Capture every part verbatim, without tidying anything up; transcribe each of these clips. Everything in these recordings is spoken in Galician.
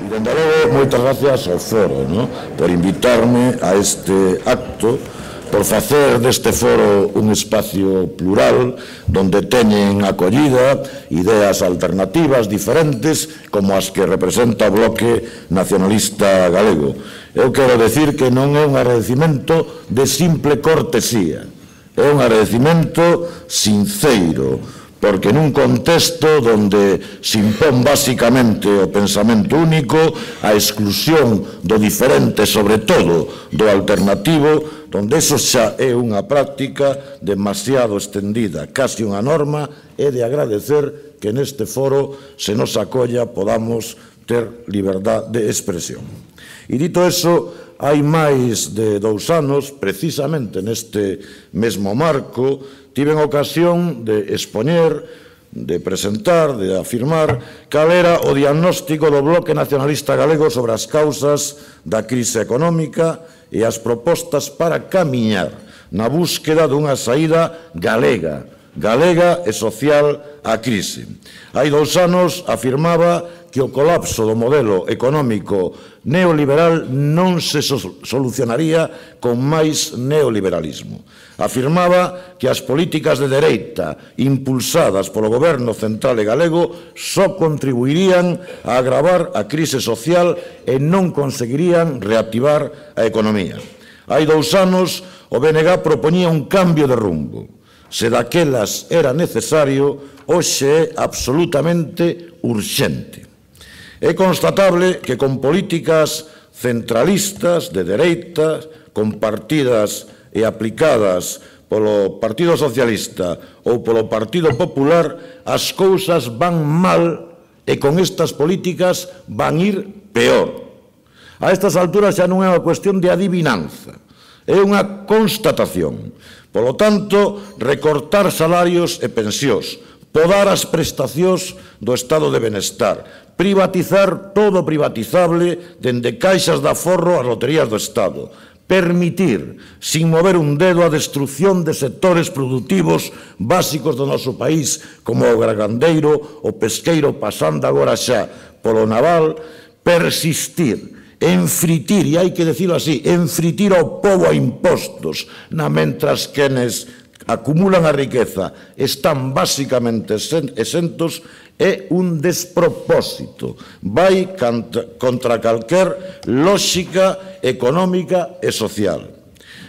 Dende logo, moitas gracias ao foro, no? Por invitarme a este acto, por facer deste foro un espacio plural donde teñen acollida ideas alternativas diferentes como as que representa o Bloque Nacionalista Galego. Eu quero decir que non é un agradecimento de simple cortesía, é un agradecimento sinceiro, porque nun contexto donde se impón basicamente o pensamento único, a exclusión do diferente, sobre todo do alternativo, donde eso xa é unha práctica demasiado extendida, casi unha norma, é de agradecer que neste foro se nos acolla podamos ter liberdade de expresión. E dito eso, hai máis de dous anos, precisamente neste mesmo marco, tiven ocasión de expoñer, de presentar, de afirmar cal era o diagnóstico do Bloque Nacionalista Galego sobre as causas da crise económica e as propostas para camiñar na búsqueda dunha saída galega, galega e social á crise. Hai dous anos afirmaba que o colapso do modelo económico neoliberal non se solucionaría con máis neoliberalismo. Afirmaba que as políticas de dereita impulsadas polo goberno central e galego só contribuirían a agravar a crise social e non conseguirían reactivar a economía. Hai dous anos o B N G propoñía un cambio de rumbo. Se daquelas era necesario, hoxe é absolutamente urxente. É constatable que con políticas centralistas de dereita, compartidas e aplicadas polo Partido Socialista ou polo Partido Popular, as cousas van mal e con estas políticas van ir peor. A estas alturas xa non é unha cuestión de adivinanza, é unha constatación. Polo tanto, recortar salarios e pensións, podar as prestacións do estado de benestar, privatizar todo privatizable dende caixas de aforro ás loterías do Estado, permitir, sin mover un dedo, a destrucción de sectores produtivos básicos do noso país, como o gargandeiro, o pesqueiro, pasando agora xa polo naval, persistir, enfritir, e hai que dicilo así, enfritir ao pobo a impostos, na mentras quenes acumulan a riqueza están basicamente exentos, é un despropósito. Vai contra calquer lógica económica e social.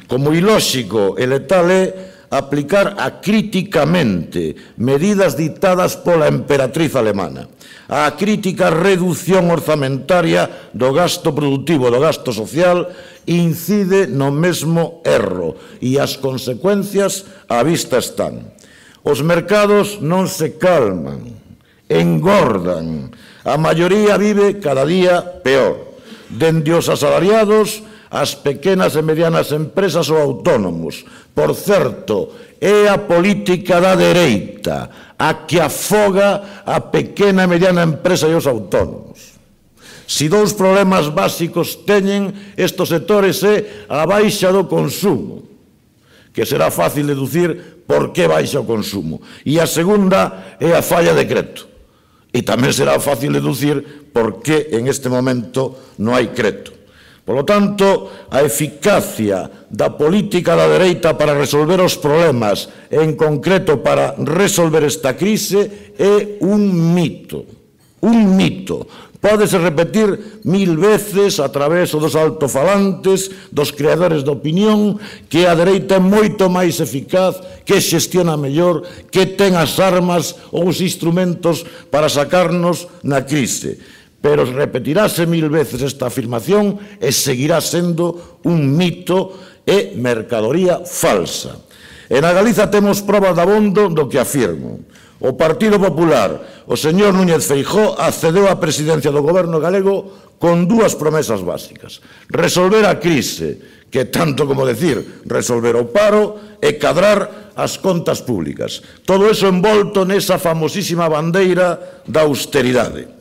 Como ilóxico e letal é aplicar acríticamente medidas dictadas pola emperatriz alemana. A crítica reducción orzamentaria do gasto productivo, do gasto social, incide no mesmo erro e as consecuencias á vista están. Os mercados non se calman, engordan. A maioría vive cada día peor. Dende os asalariados, as pequenas e medianas empresas ou autónomos. Por certo, é a política da dereita a que afoga a pequena e mediana empresa e os autónomos. Si dous problemas básicos teñen estes sectores é a baixa do consumo, que será fácil deducir por que baixa o consumo, e a segunda é a falla de crédito, e tamén será fácil deducir por que en este momento non hai crédito. Por lo tanto, a eficacia da política da dereita para resolver os problemas, en concreto para resolver esta crise, é un mito. Un mito. Pódese repetir mil veces a través dos altofalantes, dos creadores de opinión, que a dereita é moito máis eficaz, que xestiona mellor, que ten as armas ou os instrumentos para sacarnos na crise. Pero repetirase mil veces esta afirmación e seguirá sendo un mito e mercadoría falsa. En a Galiza temos probas dabondo do que afirmo. O Partido Popular, o señor Núñez Feijóo, accedeu á presidencia do goberno galego con dúas promesas básicas. Resolver a crise, que tanto como decir resolver o paro, e cadrar as contas públicas. Todo eso envolto nesa famosísima bandeira da austeridade.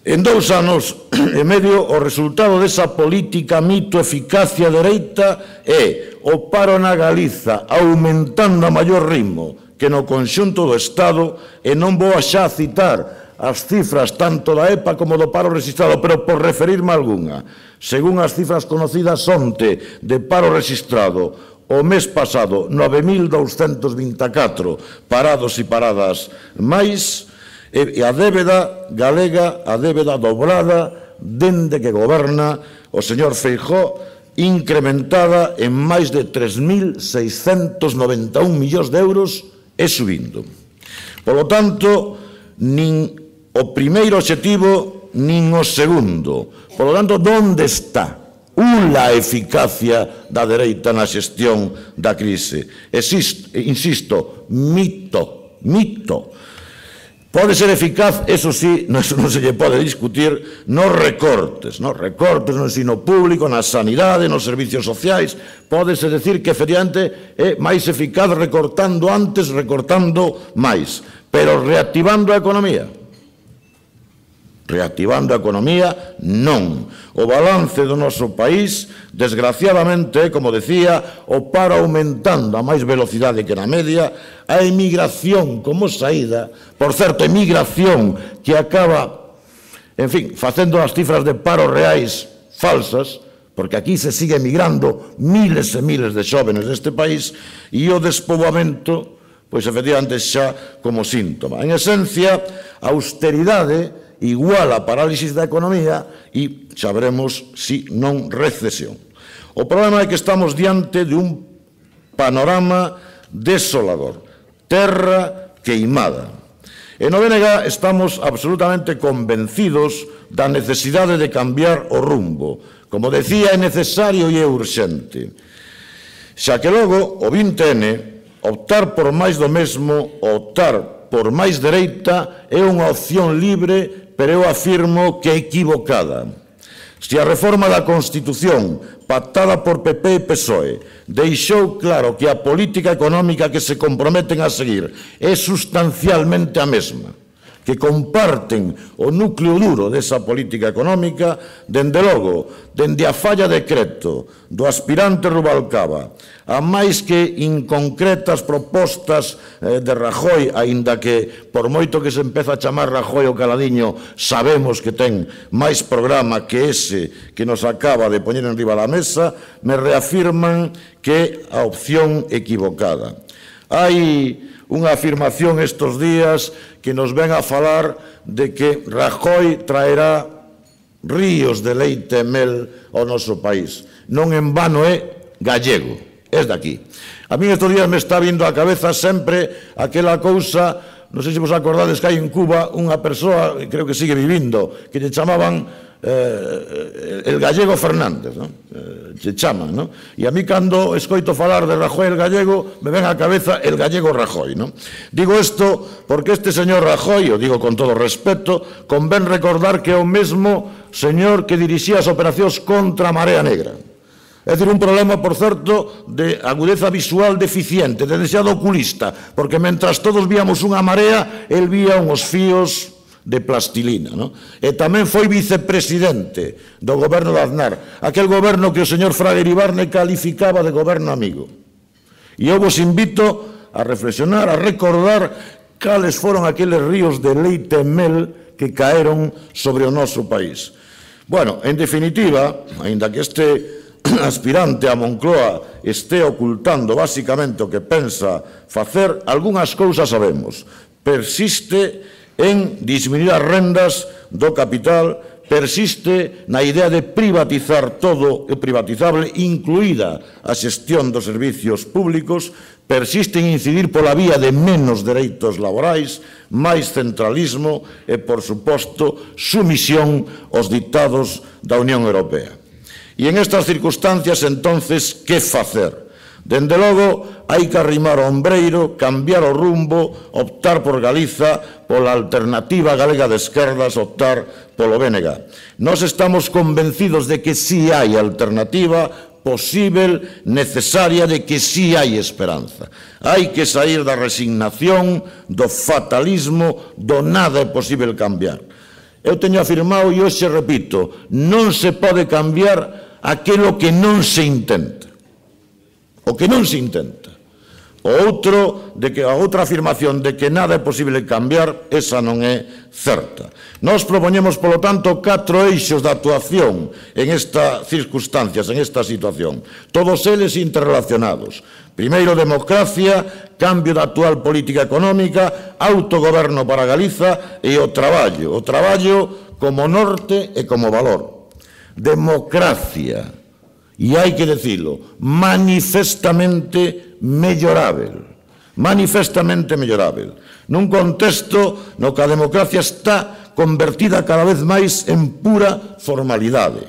En dous anos e medio, o resultado desa política mito eficacia dereita é o paro na Galiza aumentando a maior ritmo que no conxunto do Estado, e non vou xa citar as cifras tanto da E P A como do paro registrado, pero por referirme a algunha. Según as cifras conocidas onte de paro registrado, o mes pasado, nove mil douscentos vinte e catro parados e paradas máis, e a débeda galega, a débeda dobrada, dende que goberna o señor Feijóo, incrementada en máis de tres mil seiscentos noventa e un millóns de euros e subindo. Polo tanto, nin o primeiro obxectivo, nin o segundo. Por lo tanto, onde está a eficacia da dereita na xestión da crise? Existe, insisto, mito, mito. Pode ser eficaz, eso sí, eso non se lle pode discutir, nos recortes, nos recortes no ensino público, na sanidade, nos servicios sociais. Pódese decir que, efectivamente, é máis eficaz recortando antes, recortando máis. Pero reactivando a economía. Reactivando a economía, non. O balance do noso país, desgraciadamente, como decía, o paro aumentando a máis velocidade que na media, a emigración como saída, por certo, emigración que acaba, en fin, facendo as cifras de paro reais falsas, porque aquí se sigue emigrando miles e miles de xóvenes deste país, e o despoboamento, pois, efectivamente, xa como síntoma. En esencia, a austeridade igual a parálisis da economía e xa veremos si non recesión. O problema é que estamos diante de un panorama desolador, terra queimada. E no B N G estamos absolutamente convencidos da necesidade de cambiar o rumbo. Como decía, é necesario e é urxente. Xa que logo o vinte ene, optar por máis do mesmo, optar por máis dereita, é unha opción libre, pero eu afirmo que é equivocada. Se a reforma da Constitución, pactada por P P e P S O E, deixou claro que a política económica que se comprometen a seguir é sustancialmente a mesma, que comparten o núcleo duro desa política económica, dende logo, dende a falla decreto do aspirante Rubalcaba, a máis que inconcretas propostas de Rajoy, aínda que, por moito que se empeza a chamar Rajoy o caladiño, sabemos que ten máis programa que ese que nos acaba de poñer en riba da mesa, me reafirman que a opción equivocada. Hai unha afirmación estes días que nos ven a falar de que Rajoy traerá ríos de leite e mel ao noso país. Non en vano é gallego, é daqui. A mí estes días me está vindo á cabeza sempre aquela cousa, non sei se vos acordades que hai en Cuba unha persoa, creo que sigue vivindo, que lle chamaban Eh, el gallego Fernández, ¿no? Eh, se chama, ¿no? E a mí cando escoito falar de Rajoy el gallego me ven á cabeza el gallego Rajoy, ¿no? Digo isto porque este señor Rajoy, o digo con todo respeto, convén recordar que é o mesmo señor que dirixía as operacións contra a Marea Negra. É dicir, un problema, por certo, de agudeza visual deficiente, de desexado oculista, porque mentras todos víamos unha marea, el vía uns fíos de plastilina, ¿no? E tamén foi vicepresidente do goberno de Aznar, aquel goberno que o señor Fraga Iribarne calificaba de goberno amigo. E eu vos invito a reflexionar, a recordar cales foron aqueles ríos de leite e mel que caeron sobre o noso país. Bueno, en definitiva, aínda que este aspirante a Moncloa este ocultando basicamente o que pensa facer, algunhas cousas sabemos. Persiste en disminuir as rendas do capital, persiste na idea de privatizar todo o privatizable, incluída a xestión dos servicios públicos, persiste en incidir pola vía de menos dereitos laborais, máis centralismo e, por suposto, sumisión aos ditados da Unión Europea. E en estas circunstancias, entonces, que facer? Dende logo, hai que arrimar o ombreiro, cambiar o rumbo, optar por Galiza, pola alternativa galega de esquerdas, optar polo B N G. Nós estamos convencidos de que si hai alternativa posible, necesaria, de que si hai esperanza. Hai que sair da resignación, do fatalismo, do nada é posible cambiar. Eu teño afirmado e hoxe repito, non se pode cambiar aquilo que non se intenta. O que non se intenta. O outro, de que a outra afirmación de que nada é posible cambiar, esa non é certa. Nós propoñemos, polo tanto, catro eixos de actuación en estas circunstancias, en esta situación, todos eles interrelacionados. Primeiro, democracia, cambio da actual política económica, autogoberno para Galiza e o traballo, o traballo como norte e como valor. Democracia, e hai que dicilo, manifestamente mellorável, manifestamente mellorável, nun contexto no que a democracia está convertida cada vez máis en pura formalidade,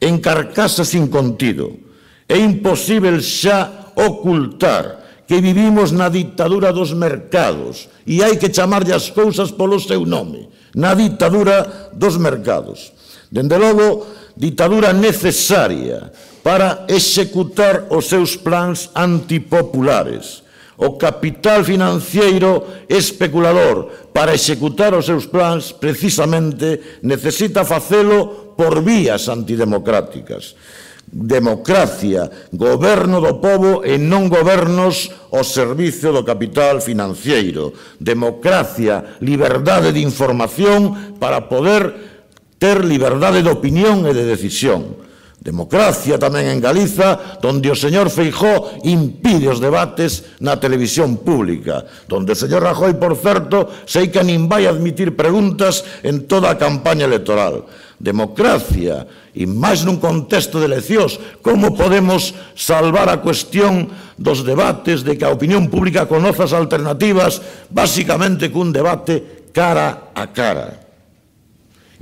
en carcasa sin contido. É imposible xa ocultar que vivimos na ditadura dos mercados e hai que chamarlle as cousas polo seu nome, na ditadura dos mercados. Dende logo, ditadura necesaria para executar os seus plans antipopulares. O capital financiero especulador, para executar os seus plans, precisamente necesita facelo por vías antidemocráticas. Democracia, goberno do pobo e non gobernos ao servicio do capital financiero. Democracia, liberdade de información para poder ter liberdade de opinión e de decisión. Democracia tamén en Galiza, donde o señor Feijóo impide os debates na televisión pública, donde o señor Rajoy, por certo, sei que nin vai admitir preguntas en toda a campaña electoral. Democracia, e máis nun contexto de eleccións, como podemos salvar a cuestión dos debates de que a opinión pública conoce as alternativas, basicamente cun debate cara a cara.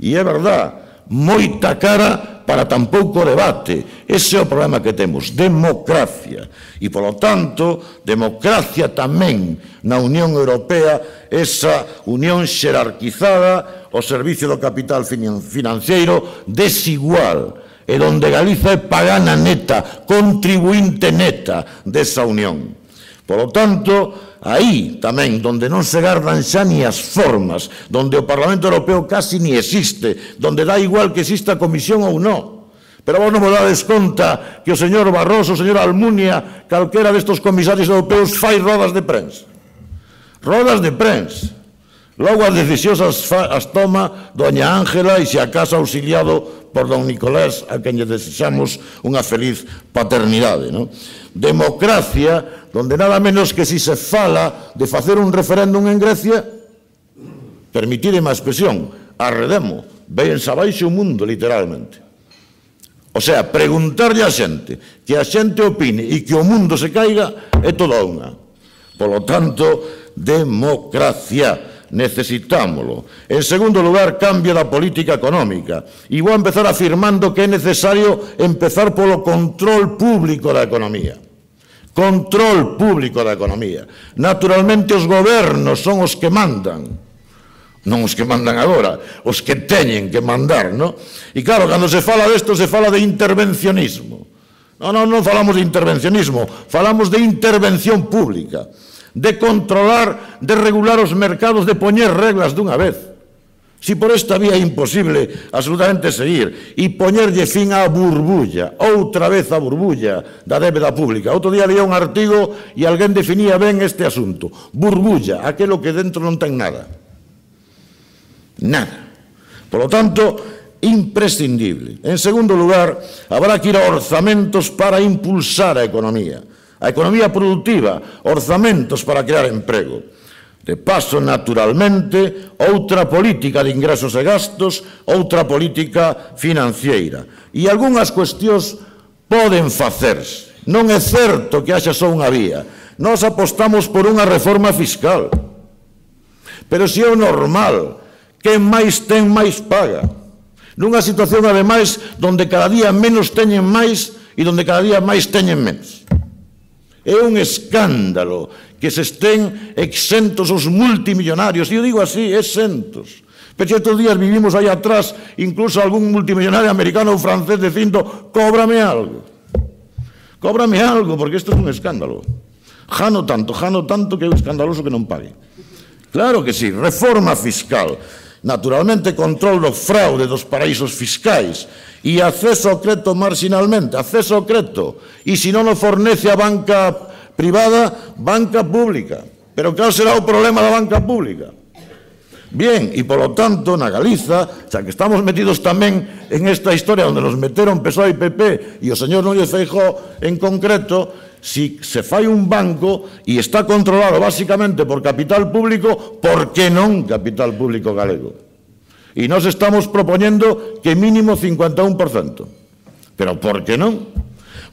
E é verdad, moita cara para tan pouco debate. Ese é o problema que temos, democracia. E, polo tanto, democracia tamén na Unión Europea, esa unión xerarquizada ao servicio do capital financeiro desigual, e donde Galiza é pagana neta, contribuinte neta desa unión. Polo tanto, aí tamén, donde non se gardan xa ni as formas, donde o Parlamento Europeo casi ni existe, donde dá igual que exista comisión ou non. Pero vos non vos dades conta que o señor Barroso, o señor Almunia, calquera destos comisarios europeos fai rodas de prensa. Rodas de prensa. Logo as decisións as, as toma doña Ángela e se acaso auxiliado por don Nicolás, a quen lle desexamos unha feliz paternidade, non? Democracia, donde nada menos que si se fala de facer un referéndum en Grecia, permitideme a expresión, arredemo, véense abaixo o mundo, literalmente. O sea, preguntarlle a xente, que a xente opine e que o mundo se caiga, é toda unha. Polo tanto, democracia, necesitámolo. En segundo lugar, cambio da política económica. E vou empezar afirmando que é necesario empezar polo control público da economía. Control público da economía. Naturalmente, os gobernos son os que mandan. Non os que mandan agora, os que teñen que mandar, non? E claro, cando se fala desto, se fala de intervencionismo. Non, non, non falamos de intervencionismo, falamos de intervención pública, de controlar, de regular os mercados, de poñer reglas dunha vez. Si por esta vía é imposible absolutamente seguir e poñerlle fin á burbulla, outra vez a burbulla da débeda pública. Outro día leía un artigo e alguén definía ben este asunto. Burbulla, aquelo que dentro non ten nada. Nada. Por lo tanto, imprescindible. En segundo lugar, habrá que ir a orzamentos para impulsar a economía. A economía productiva, orzamentos para crear emprego. De paso, naturalmente, outra política de ingresos e gastos, outra política financiera. E algunhas cuestións poden facerse. Non é certo que haxa só unha vía. Nós apostamos por unha reforma fiscal. Pero se é o normal, quen máis ten máis paga. Nunha situación, ademais, donde cada día menos teñen máis e donde cada día máis teñen menos. É un escándalo que se estén exentos os multimillonarios, e eu digo así, exentos. Pero estes días vivimos aí atrás incluso algún multimillonario americano ou francés dicindo, cóbrame algo. Cóbrame algo, porque isto é un escándalo. Jano tanto, jano tanto que é escandaloso que non pague. Claro que sí, reforma fiscal. Naturalmente, control do fraude dos paraísos fiscais e acceso ao crédito marginalmente, acceso ao crédito. E se non o fornece a banca privada, banca pública. Pero cal será o problema da banca pública? Bien, e polo tanto, na Galiza, xa que estamos metidos tamén en esta historia onde nos meteron P S O E e P P e o señor Núñez Feijóo en concreto, si se fai un banco e está controlado basicamente por capital público, por que non capital público galego? E nós estamos propoñendo que mínimo cincuenta e un por cento. Pero por que non?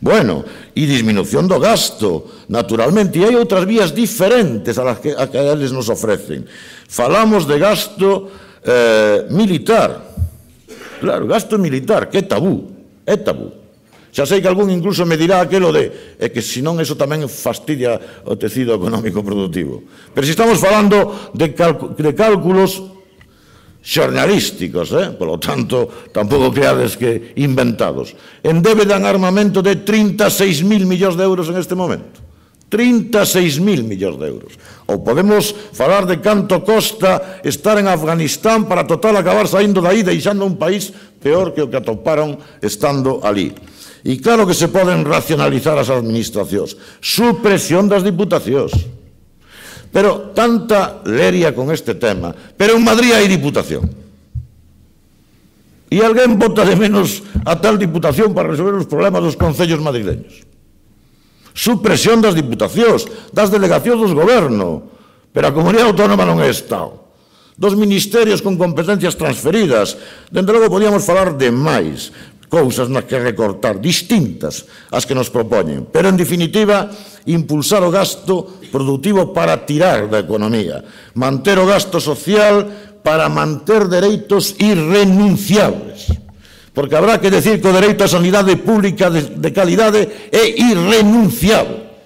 Bueno, e disminución do gasto, naturalmente, e hai outras vías diferentes a las que, a que eles nos ofrecen. Falamos de gasto eh, militar. Claro, gasto militar, que é tabú, é tabú. Xa sei que algún incluso me dirá aquelo de é que senón eso tamén fastidia o tecido económico productivo. Pero se estamos falando de, de cálculos xornalísticos, eh? Polo tanto, tampouco creades que inventados. En débeda en armamento de trinta e seis mil millóns de euros en este momento. trinta e seis mil millóns de euros. Ou podemos falar de canto costa estar en Afganistán para total acabar saindo daí, deixando un país peor que o que atoparon estando ali. E claro que se poden racionalizar as administracións. Supresión das diputacións. Pero tanta leria con este tema. Pero en Madrid hai diputación. E alguén vota de menos a tal diputación para resolver os problemas dos concellos madrileños. Supresión das diputacións, das delegacións dos goberno. Pero a comunidade autónoma non é Estado. Dos ministerios con competencias transferidas. Dende logo podíamos falar de máis cousas nas que recortar, distintas as que nos propoñen, pero en definitiva impulsar o gasto productivo para tirar da economía, manter o gasto social para manter dereitos irrenunciables, porque habrá que decir que o dereito á sanidade pública de, de calidade é irrenunciable,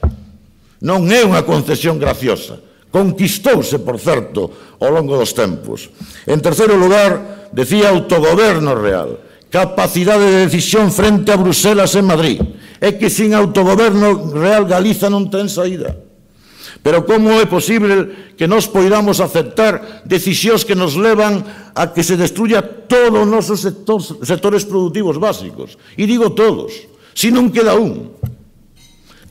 non é unha concesión graciosa, conquistouse, por certo, ao longo dos tempos. En terceiro lugar, decía autogoberno real, capacidade de decisión frente a Bruselas e Madrid. É que sin autogoberno real Galiza non ten saída. Pero como é posible que nos poidamos aceptar decisións que nos levan a que se destruya todos os nosos sectores, sectores productivos básicos? E digo todos, si non queda un.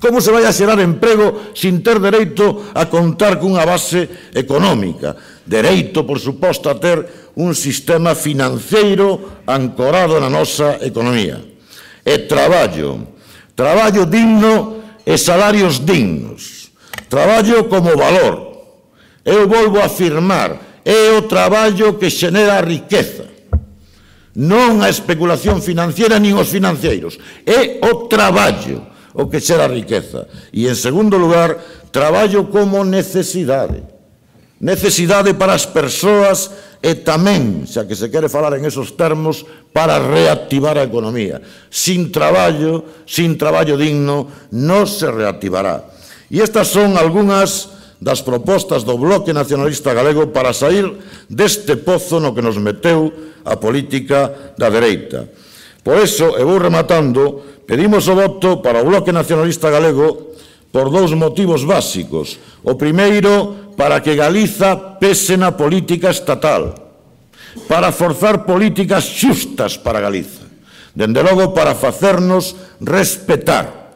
Como se vai a xerar emprego sin ter dereito a contar cunha base económica? Dereito, por suposto, a ter un sistema financeiro ancorado na nosa economía. E traballo, traballo digno e salarios dignos. Traballo como valor. Eu volvo a afirmar, é o traballo que xenera a riqueza. Non a especulación financiera nin os financeiros. É o traballo o que xera a riqueza. E, en segundo lugar, traballo como necesidade. Necesidade para as persoas e tamén, xa que se quere falar en esos termos, para reactivar a economía. Sin traballo, sin traballo digno, non se reactivará. E estas son algunhas das propostas do Bloque Nacionalista Galego para sair deste pozo no que nos meteu a política da dereita. Por eso, e vou rematando, pedimos o voto para o Bloque Nacionalista Galego por dous motivos básicos. O primeiro, para que Galiza pese na política estatal, para forzar políticas xustas para Galiza, dende logo para facernos respetar.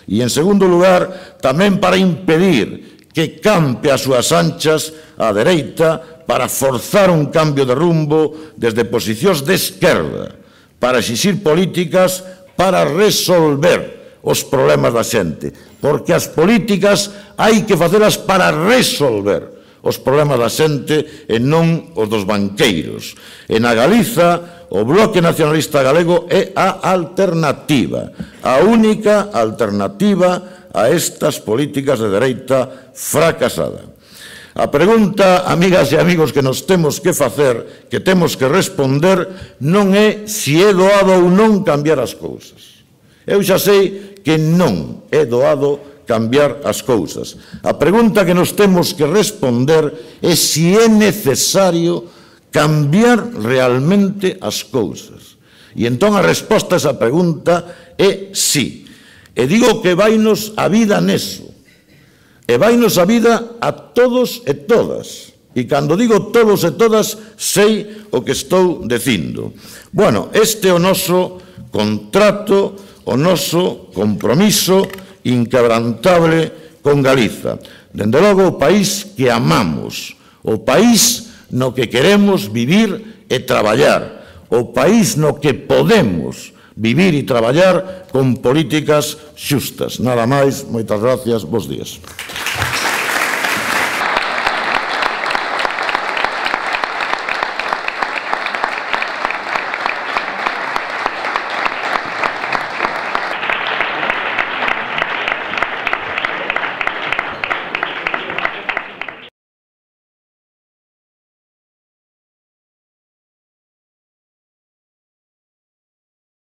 E, en segundo lugar, tamén para impedir que campe as súas anchas a dereita para forzar un cambio de rumbo desde posicións de esquerda, para exixir políticas para resolver os problemas da xente, porque as políticas hai que facelas para resolver os problemas da xente e non os dos banqueiros. E na Galiza, o Bloque Nacionalista Galego é a alternativa, a única alternativa a estas políticas de dereita fracasada. A pregunta, amigas e amigos, que nos temos que facer, que temos que responder, non é se é doado ou non cambiar as cousas. Eu xa sei que non é doado cambiar as cousas. A pregunta que nos temos que responder é se é necesario cambiar realmente as cousas. E entón a resposta a esa pregunta é sí. E digo que vainos a vida neso. E vainos a vida a todos e todas. E cando digo todos e todas, sei o que estou dicindo. Bueno, este é o noso contrato, o noso compromiso inquebrantable con Galiza. Dende logo, o país que amamos, o país no que queremos vivir e traballar, o país no que podemos vivir e traballar con políticas xustas. Nada máis, moitas gracias, bos días.